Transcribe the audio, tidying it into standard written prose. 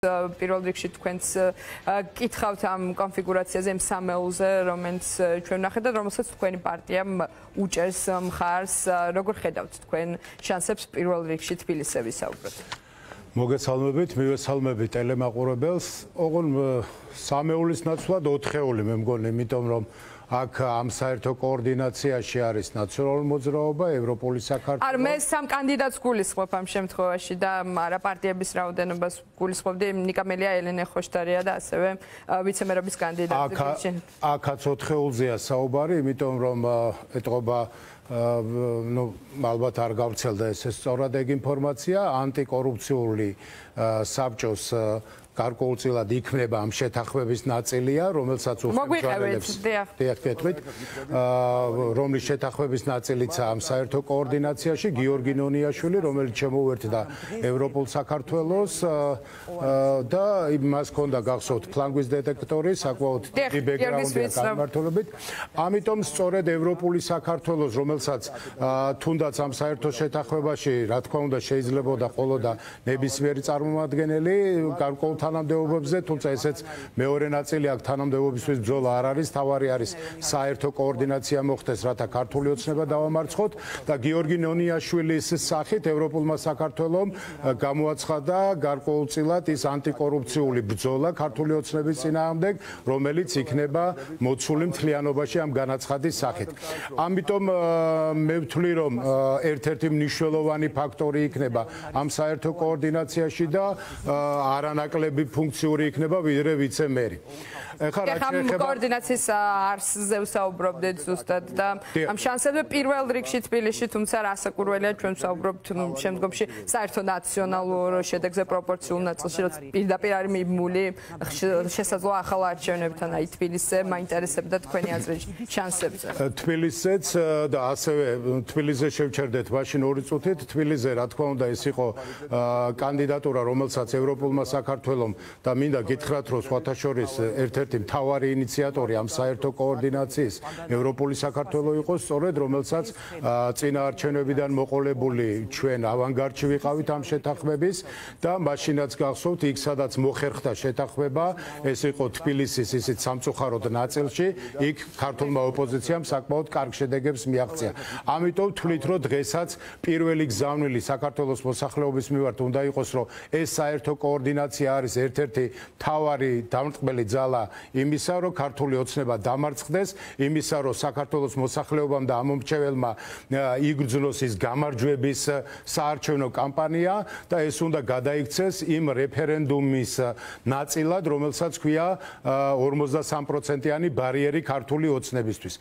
პირველ რიგში თქვენს კითხავთ ამ კონფიგურაციაზე სამეულზე, რომელიც ჩვენ ვნახეთ და რომელსაც თქვენი პარტიამ უჭერს მხარს. როგორ ხედავთ თქვენ შანსებს პირველ რიგში თბილისზე ვისაუბროთ? მოგესალმებით, მივესალმები ტელემაყურებელს. ოღონ სამეულის ნაცვლად 4-ეული მე მგონი, იმიტომ რომ აქ ამ საერთო კოორდინაციაში არის ნაციონალური მოძრაობა, ევროპული საქართველო. არ მე სამ კანდიდატს გულისხმობ ამ შემთხვევაში და არა პარტიების რაოდენობას გულისხმობდი, ნიკამელია, ელენე ხოშტარია და ასევე ვიცემერობის კანდიდატი. აქაც 4-ეულზეა საუბარი, იმიტომ რომ ეტყობა ალბათ არ გავრცელდა ეს სწორად ეგ ინფორმაცია, ანტიკორუფციული საბჭოს გარკვეულწილად იქმნება ამ შეთანხმების ნაწილია, რომელსაც უხელმძღვანელებს დიახ, რომლის შეთანხმების ნაწილიცაა ამ საერთო კოორდინაციაში გიორგი ნონიაშვილი, რომელიც შემოუერთდა ევროპულ საქართველოს და მას ჰქონდა გახსოვთ ფლანგვის დეტექტორი, საკმაოდ დიდი ბექგრაუნდი აქვს გამართულებით. ამიტომ სწორედ ევროპული საქართველოს, რომელსაც თუნდაც ამ საერთო შეთანხმებაში, რა თქმა უნდა, შეიძლებოდა ყოლოდა ნებისმიერი წარმომადგენელი გარკვეულ თანამდებობებზე, თუმცა ესეც მეორე ნაწილი აქ თანამდებობისთვის ბრძოლა არ არის, თავარი არის საერთო კოორდინაცია მოხდეს, რათა ქართული ოცნება დავამარცხოთ და გიორგი ნონიაშვილის სახით ევროპულმა საქართველომ გამოაცხადა გარკვეულწილად ის ანტიკორუფციული ბრძოლა ქართული ოცნების წინააღმდეგ, რომელიც იქნება მოცული მთლიანობაში ამ განაცხადის სახით. ამიტომ მე ვთვლი, რომ ერთ-ერთი მნიშვნელოვანი ფაქტორი იქნება ამ საერთო კოორდინაციაში და არანაკლები ფუნქციური იქნება ვიდრე ვიცემერი. ეხლა კოორდინაციის არსზე ვსაუბრობდით ზუსტად და ამ შანსებზე პირველ რიგში თბილისში, თუმცა რასაკურველია ჩვენ ვსაუბრობთ შემდგომში საერთო ნაციონალურ შედეგზე პროპორციულ ნაწილში, რაც პირდაპირ არის მიმული შესაძლოა ახალ არჩევნებთან, აი თბილისზე მაინტერესებდა თქვენი აზრი შანსებზე. თბილისზეც და ასევე თბილისზე შევჩერდეთ მაშინ 2 წუთით. თბილისზე რა თქმა უნდა ეს იყო კანდიდატურა, რომელსაც ევროპულმა საქართველომ და მინდა გითხრათ, რომ სხვათა შორის ერთ-ერთი მთავარი ინიციატორი ამ საერთო კოორდინაციის ევროპული საქართველო იყო, სწორედ რომელსაც წინა არჩევნებიდან მოყოლებული ჩვენ ავანგარდში ვიყავით ამ შეთანხმების და მაშინაც გახსოვთ იქ სადაც მოხერხდა შეთანხმება, ეს იყო თბილისის ისიც სამწუხაროდ ნაწილში, იქ ქართულმა ოპოზიციამ საკმაოდ კარგ შედეგებს მიაღწია. ამიტომ ვთვლით, რომ დღესაც პირველი გზავნილი საქართველოს მოსახლეობის მიმართ უნდა იყოს, რომ ეს საერთო კოორდინაცია არის ერთ-ერთი მთავარი დამწყბელი ძალა იმისა, რომ ქართული ოცნება დამარცხდეს, იმისა, რომ საქართველოს მოსახლეობამ და ამომრჩეველმა იგრძნოს ის გამარჯვების საარჩევნო კამპანია და ეს უნდა გადაიქცეს იმ რეფერენდუმის ნაწილად, რომელსაც ქვია 53%-იანი ბარიერი ქართული ოცნებისთვის.